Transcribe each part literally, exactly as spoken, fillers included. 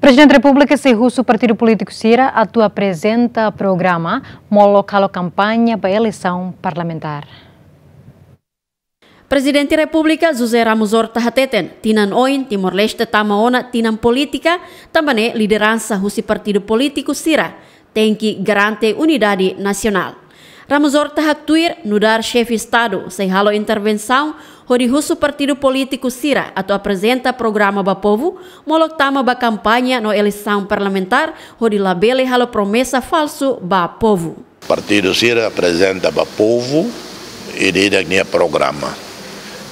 Prezidente Repúblika sei husu partidu polítiku sira atu aprezenta programa molok halo kampaña ba eleisaun parlamentár. Prezidente Repúblika José Ramos Horta hateten, tinan oin Timor-Leste tama ona tinan polítika, tanba ne'e lideransa husi partidu polítiku sira tenke garante unidade nasionál. Ramos Horta haktuir nu'udar xefe Estadu sei halo intervensaun hodi husu partidu polítiku sira atu aprezenta programa ba povu, molok tama ba kampaña no eleisaun parlamentár hodi labele halo promesa falsu ba povu. Partidu sira aprezenta ba povu ida-idak nia programa.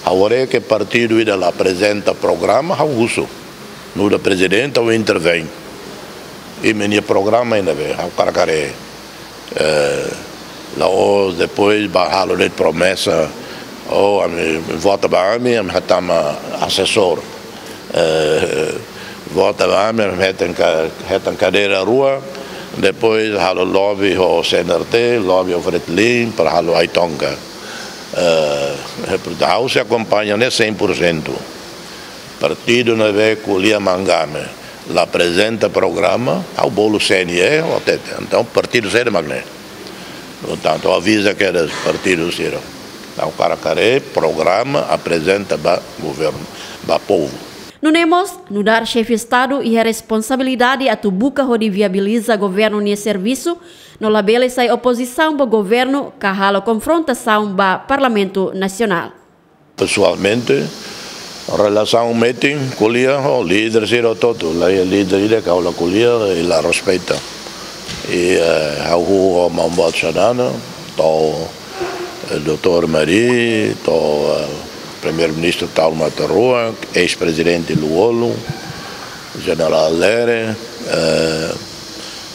Ha'u haree ke partidu ida la aprezenta programa, ha'u husu. Nu'udar prezidente ha'u intervein. Imi-nia programa iha ne'ebé, ha'u hakarak haree. Eh, la'ós depois ba halo de'it promesa. Oh, ami vota ba ami, ami hatama asesór. Eh, vota ba ami, ami hetan ka-, hetan kadeira rua. Depois halo lobby ho C N R T, lobby ho Fretilin, para halo ai-tonka. Eh, ha'u sei akompaña ne'e cem por cento. Partidu ne'ebé ko'alia mak ami, la aprezenta programa, ha'u bolu C N E, ha'u hatete. Entaun, partidu saida mak ne'e. Portantu, aviza kedas partidu sira. Ha'u hakarak haree programa aprezenta ba governu, ba povu. Nune'e mós, nu'udar xefe Estadu iha responsabilidade atu buka hodi viabiliza governu nia servisu, no labele sai opozisaun ba governu ka halo konfrontasaun ba Parlamentu Nasionál. Pesoalmente, relasaun metin, ko'alia ho líder sira hotu-hotu, la iha líder ida ke ha'u la ko'alia i la respeita. I, eh, ha'u ho maun boot Xanana, to'o, eh, doutór Mari, to'o, eh, Primeiru-Ministru Taur Matan Ruak, eis-prezidente Lú-Olo, Jenerál Lere, eh,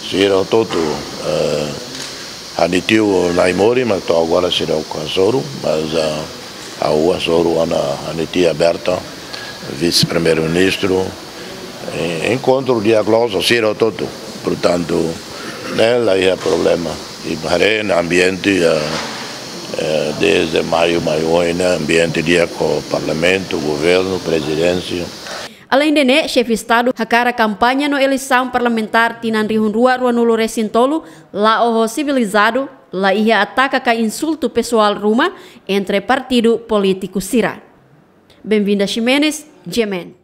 sira hotu-hotu, eh, ha'u-nia tiu Naimori, mas to'o agora seidauk hasoru, mas, ah, ha'u hasoru ona ha'u-nia tia Berta, vise-primeiru-ministru, eh, enkontru diálogu ho sira hotu-hotu. Portantu, ne'e la iha problema. I haree ona ambiente, eh, eh, dezde maiu, maiu oin ne'e, ambiente di'ak ho parlamentu, governu, prezidénsia. Aleinde ne'e, xefe Estadu hakarak kampaña no eleisaun parlamentár tinan rihun rua ruanulu resin tolu la'o ho sivilizadu, la iha ataka ka insultu pesoál ruma entre partidu polítiku sira. Benvinda Ximenes, G M N.